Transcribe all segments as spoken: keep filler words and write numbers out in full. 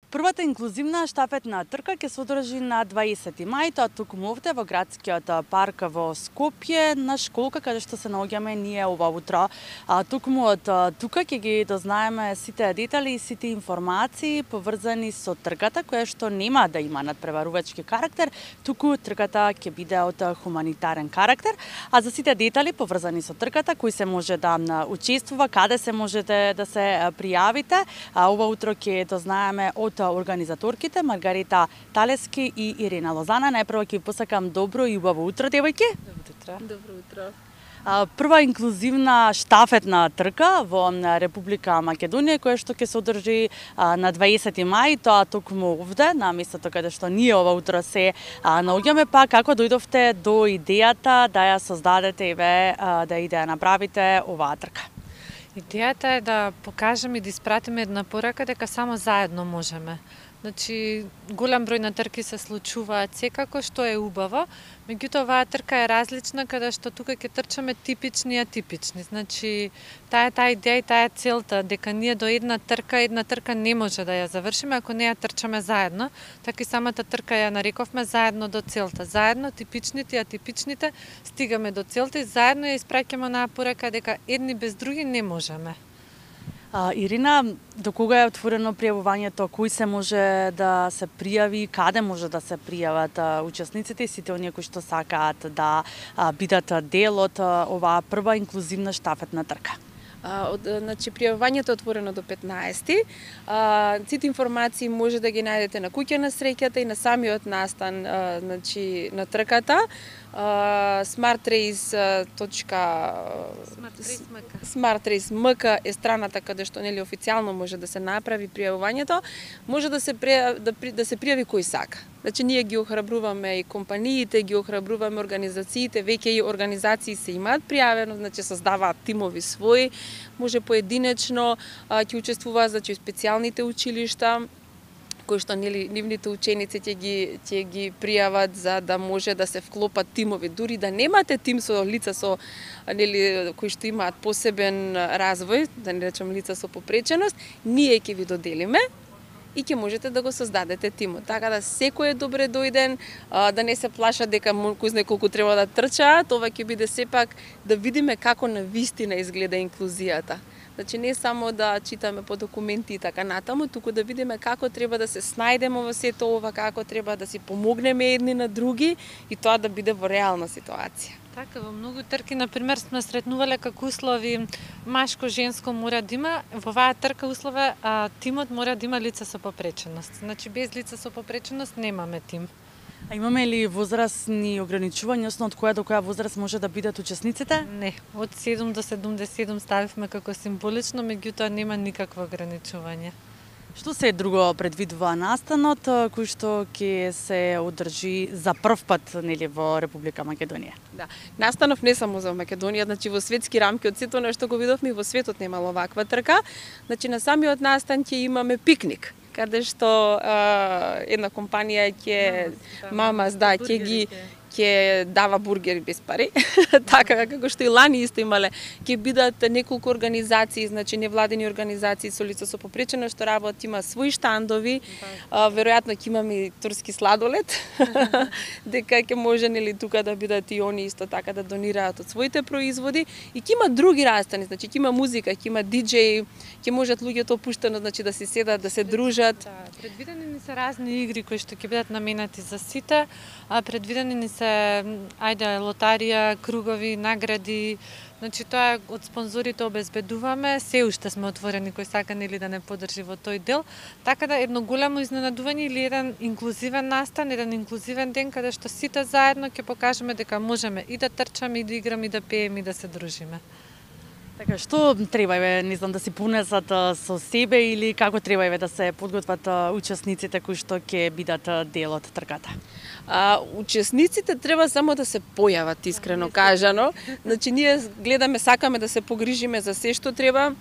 Првата инклузивна штафетна трка ќе се одржи на дваесети мај, тоа токму овде во градскиот парк во Скопје, на школка каде што се наоѓаме ние ова утро. А токму од тука ќе ги дознаеме сите детали и сите информации поврзани со трката, која што нема да има надпреварувачки карактер, туку трката ќе биде од хуманитарен карактер. А за сите детали поврзани со трката, кој се може да учествува, каде се можете да се пријавите, а ова утро ќе дознаеме од организаторките Маргарита Талески и Ирина Лозана. Најпрво ќе ви посакам добро и убаво утро, девојки. Добро утро. Добро утро. Прва инклузивна штафетна трка во Република Македонија, која што ќе се одржи на дваесети мај, тоа токму овде, на местото каде што ние ова утро се наоѓаме. Па како дојдовте до идејата да ја создадете и ве да и да ја направите оваа трка? Идејата е да покажеме и да испратиме една порака дека само заедно можеме. Значи, голем број на трки се случуваат секако, што е убаво, меѓутоа оваа трка е различна, каде што тука ќе трчаме типични и атипични. Значи, таа е таа идеја и таа е целта, дека ние до една трка, една трка не може да ја завршиме ако не ја трчаме заедно, така и самата трка ја нарековме заедно до целта. Заедно типичните и атипичните стигаме до целта и заедно ја испраќаме онаа порака дека едни без други не можеме. А, Ирина, до кога е отворено пријавувањето, кој се може да се пријави, каде може да се пријават а, учесниците и сите оние кои што сакаат да а, бидат дел од а, оваа прва инклузивна штафетна трка? А, од, значи, пријавувањето е отворено до петнаесети. А, сите информации може да ги најдете на куќа на среќата и на самиот настан а, значи, на трката. smartrace точка smartrace точка ем ка е страната каде што нели официјално може да се направи пријавувањето. Може да се пријави, да, да се пријави кој сака. Значи ние ги охрабруваме и компаниите, ги охрабруваме организациите, веќе и организации се имаат пријавено, значи создаваат тимови своји, може поединечно ќе учествуваат, значи специјалните училишта кои што нели нивните ученици ќе ги ќе ги пријават за да може да се вклопат тимови, дури да немате тим со лица со нели кои што имаат посебен развој, да не речам лица со попреченост, ние ќе ви доделиме и ќе можете да го создадете тимот. Така да секој е добре дојден, да не се плаша дека кој знае колку треба да трчаат, ова ќе биде сепак да видиме како на вистина изгледа инклузијата. Значи не само да читаме по документи и така натаму, туку да видиме како треба да се снајдеме во сето ова, како треба да си помогнеме едни на други и тоа да биде во реална ситуација. Така, во многу трки, например, сме сретнувале како услови машко-женско мора да има, во оваа трка услове а, тимот мора да има лица со попреченост. Значи без лица со попреченост немаме тим. А имаме ли возрастни ограничувања, односно од која до која возраст може да бидат учесниците? Не, од седум до седумдесет и седум ставивме како символично, меѓутоа нема никакво ограничување. Што се друго предвидува настанот кој што ќе се одржи за прв пат нели во Република Македонија? Да, настанов не само за Македонија, значи во светски рамки од сето нешто го видовме и во светот немало ваква трка. Значи на самиот настан ќе имаме пикник, каде што а, една компанија ќе Мамас, да, ќе ги ќе дава бургери без пари, така како што и лани исто имале, ќе бидат неколку организации, значи невладени организации со лица со попреченост што работат, има своји штандови, а, веројатно ќе имаме и турски сладолед, дека ќе може нели тука да бидат и они исто така да донираат од своите производи и ќе има други настани, значи ќе има музика, ќе има диџеј, ќе можат луѓето опуштено значи да се седат, да се дружат. Да, предвидени ни се разни игри кои што ќе бидат наменати за сите, а предвидени ни се ајде лотарија, кругови, награди. Значи тоа од спонзорите обезбедуваме, се уште сме отворени кој сака нели да не подржи во тој дел, така да едно големо изненадување или еден инклузивен настан, еден инклузивен ден каде што сите заедно ќе покажеме дека можеме и да трчаме, и да играме, и да пееме, и да се дружиме. Така, што треба еве, не знам, да си понесат со себе или како треба еве да се подготват учесниците кои што ќе бидат дел од трката? А, учесниците треба само да се појават, искрено кажано. Значи ние гледаме, сакаме да се погрижиме за се што треба.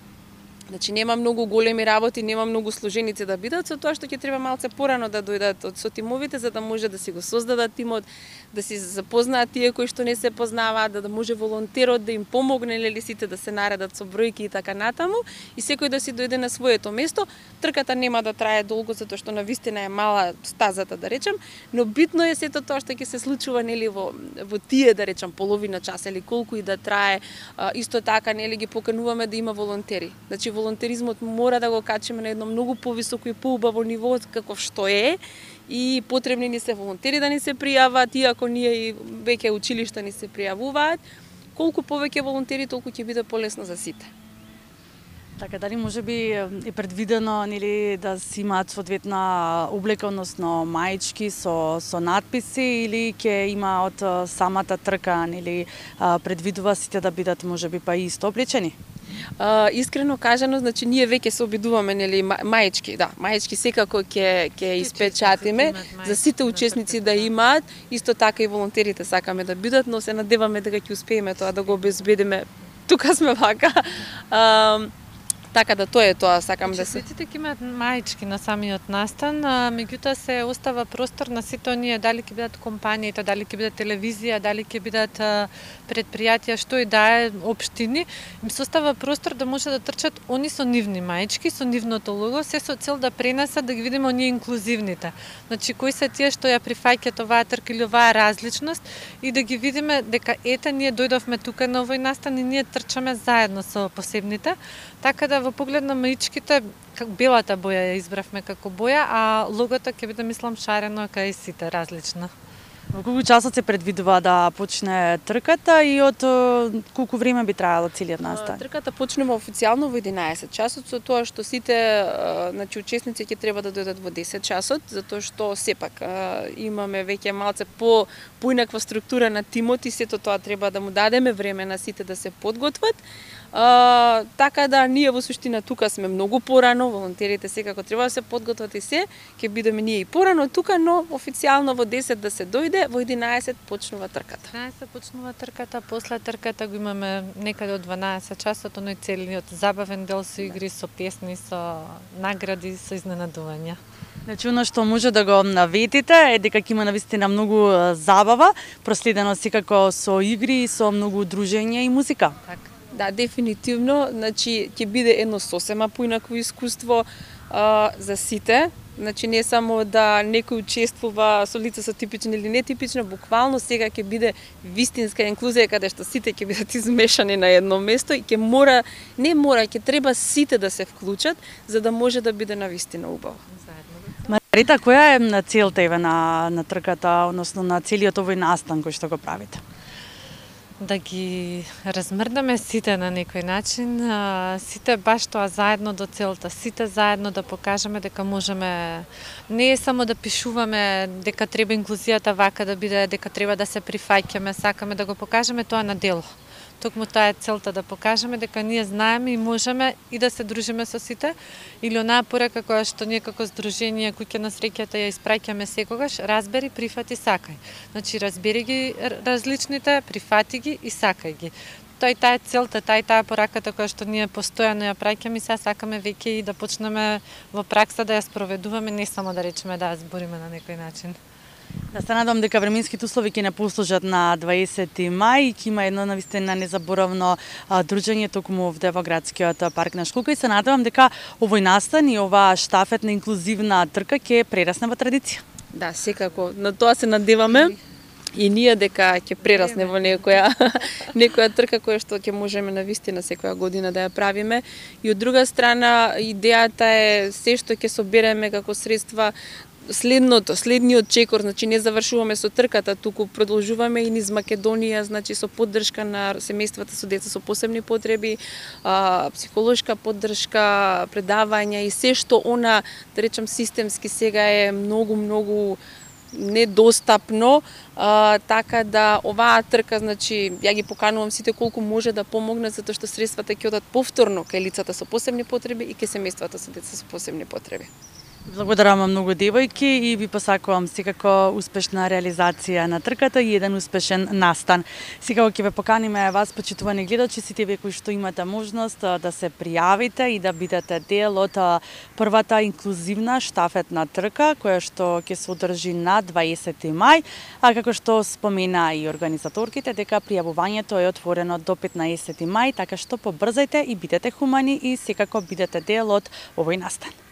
Значи нема многу големи работи, нема многу сложеници да бидат, со тоа што ќе треба малце порано да дојдат од со тимовите за да може да си го создадат тимот, да си запознаат тие кои што не се познаваат, да, да може волонтерот да им помогне нели сите да се наредат со бројки и така натаму и секој да си дојде на своето место. Трката нема да трае долго затоа што навистина е мала стазата да речем, но битно е сето тоа што ќе се случува нели во во тие да речем половина час или колку и да трае. А, исто така нели ги покануваме да има волонтери. Значи волонтеризмот мора да го качиме на едно многу повисоко и поубаво ниво каков што е и потребни ни се волонтери да ни се пријават, иако ние и веќе училишта ни се пријавуваат. Колку повеќе волонтери, толку ќе биде полесно за сите. Така, дали може би е предвидено нели да си имаат соодветна облека, односно маички со со надписи или ќе има од самата трка нели предвидува сите да бидат можеби па и исто облечени? Uh, искрено кажано, значи ние веќе се обидуваме нели маечки, да, маечки секако ќе ќе испечатиме за сите учесници да имаат, исто така и волонтерите сакаме да бидат, но се надеваме дека ќе успееме тоа да го обезбедиме. Тука сме вака. Uh, Така да тоа е тоа, сакам да се. Учесниците ќе имаат маички на самиот настан, а, меѓутоа се остава простор на сите оние, дали ќе бидат компаниите, дали ќе бидат телевизија, дали ќе бидат а, предпријатија, што и да е, општини, им се остава простор да може да трчат они со нивни маички, со нивното лого, се со цел да пренесат да ги видиме оние инклузивните. Значи кои се тие што ја прифаќаат оваа трка или оваа различност и да ги видиме дека ете ние дојдовме тука на овој настан и ние трчаме заедно со посебните. Така да во поглед на маичките, белата боја ја избравме како боја, а логото ќе биде мислам шарено кај сите различно. Во колку часот се предвидува да почне трката и од колку време би траело целиот настан? Трката почнува официјално во единаесет часот, со тоа што сите значи учесници ќе треба да дојдат во десет часот, затоа што сепак имаме веќе малце по поинаква структура на тимот и сето тоа треба да му дадеме време на сите да се подготват. Uh, така да ние во суштина тука сме многу порано, волонтерите секако треба да се подготват и се, ќе бидеме ние и порано тука, но официјално во десет да се дојде, во единаесет почнува трката. единаесет почнува трката, после трката го имаме некаде од дванаесет часот, оној целиот забавен дел со игри, со песни, со награди, со изненадувања. Значи, оно што може да го наветите е дека ќе има навистина многу забава, проследено секако со игри и со многу дружење и музика. Така. Да, дефинитивно, значи ќе биде едно сосема поинакво искуство а, за сите. Значи не само да некој учествува со лица со типично или нетипично, буквално сега ќе биде вистинска инклузија каде што сите ќе бидат измешани на едно место и ќе мора, не мора, ќе треба сите да се вклучат за да може да биде навистина убаво. Марита, која е целта еве на на трката, односно на целиот овој настан кој што го правите? Да ги размрдаме сите на некој начин, сите баш тоа заедно до целта, сите заедно да покажеме дека можеме, не е само да пишуваме дека треба инклузијата вака да биде, дека треба да се прифаќаме, сакаме да го покажеме тоа на дело. Токму таа е целта, да покажеме дека ние знаеме и можеме и да се дружиме со сите, или онаа порека која што ние како здружение Куќа на среќата ја испраќаме секогаш, разбери, прифати, сакај. Значи разбери ги различните, прифати ги и сакај ги. Тоа и таа е целта, таа и таа пораката која што ние постојано ја праќаме и сега сакаме веќе и да почнеме во пракса да ја спроведуваме, не само да речеме да ја збориме на некој начин. Да се надам дека временските услови ќе не послужат на дваесети мај и ќе има едно навистина незаборавно а, дружење токму овде во градскиот парк на Школка и се надевам дека овој настан и оваа штафетна инклузивна трка ќе прерасне во традиција. Да, секако, на тоа се надеваме. И ние дека ќе прерасне во некоја некоја трка која што ќе можеме навистина секоја година да ја правиме. И од друга страна идејата е се што ќе собереме како средства следното, следниот чекор, значи не завршуваме со трката, туку продолжуваме и низ Македонија, значи со поддршка на семејствата со деца со посебни потреби, а, психолошка поддршка, предавања и се што она, да речем, системски сега е многу многу недостапно, а, така да оваа трка, значи ја ги поканувам сите колку може да помогнат, затоа што средствата ќе одат повторно кај лицата со посебни потреби и кај семејствата со деца со посебни потреби. Благодарам многу девојки и ви посакувам секако успешна реализација на трката и еден успешен настан. Секако ќе ве поканиме вас, почитувани гледачи, сите вие кои што имате можност да се пријавите и да бидете дел од првата инклузивна штафетна трка која што ќе се одржи на дваесети мај, а како што спомена и организаторките дека пријавувањето е отворено до петнаесети мај, така што побрзајте и бидете хумани и секако бидете дел од овој настан.